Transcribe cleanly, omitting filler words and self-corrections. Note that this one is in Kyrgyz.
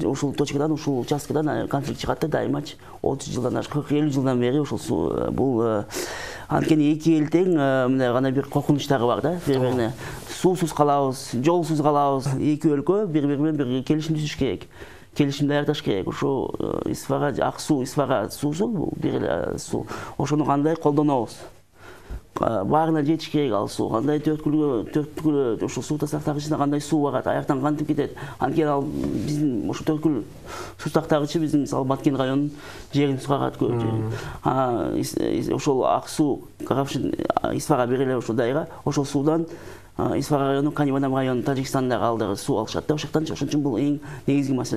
ушул точкадан, ушул участкадан конфликт чыгат да дайымачы. 30 жылдан, 40-50 жылдан бери ушул бул анткени эки эл тең мындай гана бир коркунучтары бар да, бири-бирине. Суусуз калабыз, жолсуз калабыз. Эки өлкө бири-бири менен бир келишим түзүш керек. Келишим даярдаш керек. Ошо Исфара, ак суу, Исфара суусу, бул бир эле суу. Ошону кандай колдонобуз? Баарына жетиш керек ал суу. Кандай төрткүлгө ошо суу тастактагычына кандай суу барат, аяктан кантип кетет. Анткени ал биздин ошо төрткүл суу тастактагычы биздин мисалы Баткен районунун жерин сугарат көп жерин. Ошол ак суу Карапшин, Исфара бир эле ошо дайра. Ошол суудан Исфара району, Канибанам району, Тажикстандагы алдары суу алышат да, ошол үчүн бул эң негизги маселе.